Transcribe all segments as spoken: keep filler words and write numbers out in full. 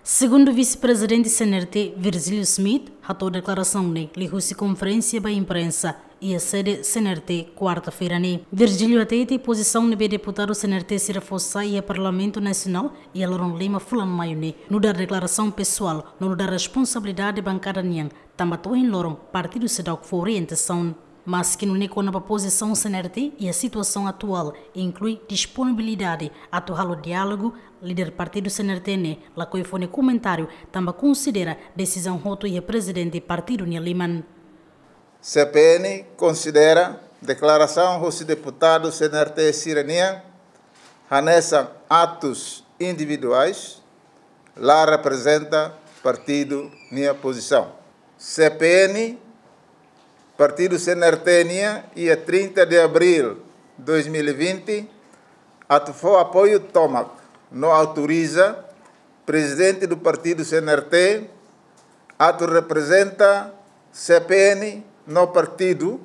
Segundu Vise-Prezidente C N R T, Virgílio Schmidt, hato'o deklarasaun ne'e liuhusi konferénsia ba imprensa iha sede C N R T, kuarta-feira ne'e. Virgílio hatete pozisaun ne'ebé deputadu C N R T sira fó sai iha Parlamentu Nasionál iha loron lima fulan Maiu ne'e nu'udar deklarasaun pesoál, no nu'udar responsabilidade bankada nian, tanba to'o ohin loron partidu seidauk fó orientasaun. Maski nune'e, kona-ba pozisaun C N R T iha situasaun atuál, inklui disponibilidade atu halo diálogu, líder partidu C N R T ne'e lakohi fó nia komentáriu, tanba konsidera desizaun hotu iha prezidente partidu nia liman. C P N konsidera deklarasaun husi deputadu C N R T sira-nian hanesan atus individuais, la reprezenta partidu nia pozisaun. C P N, partidu C N R T nian, iha trinta de abril dois mil e vinte, atu fó apoiu tomak no autoriza prezidente do partidu C N R T atu reprezenta C P N no partidu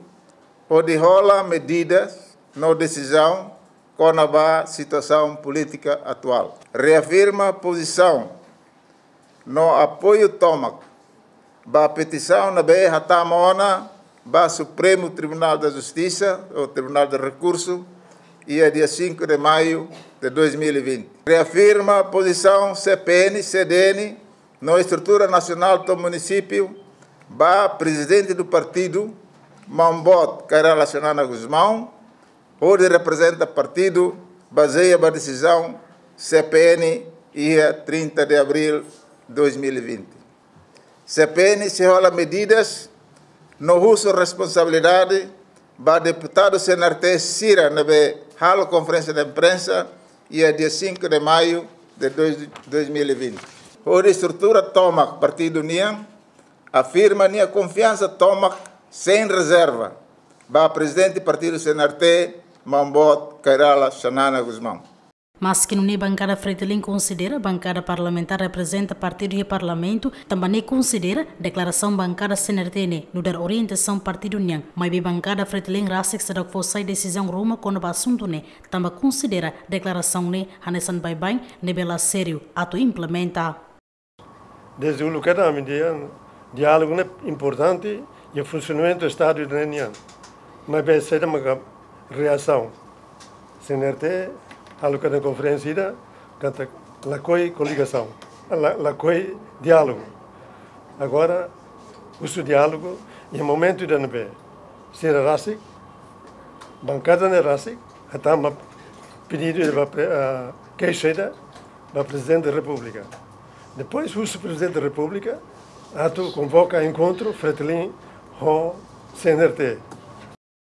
hodi hola medidas no desizaun kona-ba situasaun polítika atuál. Reafirma pozisaun no apoiu tomak ba petisaun ne'ebé hatama ona ba Supremo Tribunal da Justiça, ou Tribunal de Recurso, iha dia cinco de maio de dois mil e vinte. Reafirma pozisaun C P N C D N no estrutura nasionál to'o munisípiu ba prezidente do partidu, Maun Boot Kay Rala Xanana Gusmão, hodi reprezenta partidu, bazeia ba desizaun C P N iha trinta de abril dois mil e vinte. C P N sei hola medidas no husu responsabilidade ba deputadu C N R T sira ne'ebé halo konferénsia de imprensa iha dia cinco de maio de dois, dois mil e vinte. Hodi estrutura tomak partidu nian afirma nia konfiansa tomak sein rezerva ba prezidente partidu C N R T, Maun Boot Kay Rala Xanana Gusmão. Maski nune'e, bankada Fretilin konsidera bankada parlamentár reprezenta partidu iha Parlamentu, tanba ne'e konsidera deklarasaun bankada C N R T ne'e nu'udar orientasaun partidu nian, maibé bankada Fretilin rasik seidauk fó sai desizaun ruma kona-ba asuntu ne'e, tanba konsidera deklarasaun ne'e hanesan baibain ne'ebé la sériu atu implementa. Desde uluk kedas ami dehan diálogu ne'e importante iha funsionamentu Estadu ida-ne'e nian. Maibé saida maka reasaun? C N R T halo kedas konferénsia ida katak lakohi koligasaun, la, lakohi diálogu. Agora, husu diálogu, iha momentu ida ne'ebé sira rasik, bankada ne'e rasik, hatama pedidu ida ba pre-, ah, keixa ida ba Prezidente da Repúblika. Depois, husu Prezidente da Repúblika atu konvoka enkontru Fretilin ho C N R T.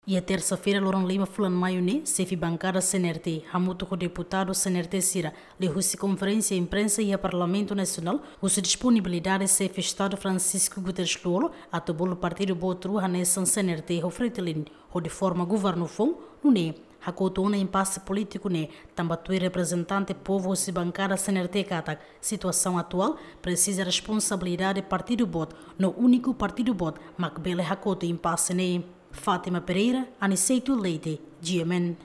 Iha tersa-feira, loron lima fulan Maiu ne'e, xefe bankada C N R T hamutuk ho deputadu C N R T sira liuhusi konferénsia imprensa iha Parlamentu Nasionál, husu disponibilidade xefe Estadu Francisco Guterres Lú-Olo atu bolu partidu boot rua hanesan C N R T ho Fretilin, hodi forma governu foun, nune'e hakotu ona impase polítiku ne'e, tanba tuir reprezentante povu husi bankada C N R T katak situasaun atuál presiza responsabilidade partidu boot, no úniku partidu boot mak bele hakotu impase ne'e. Fátima Pereira, Aniceto Leite, G M N.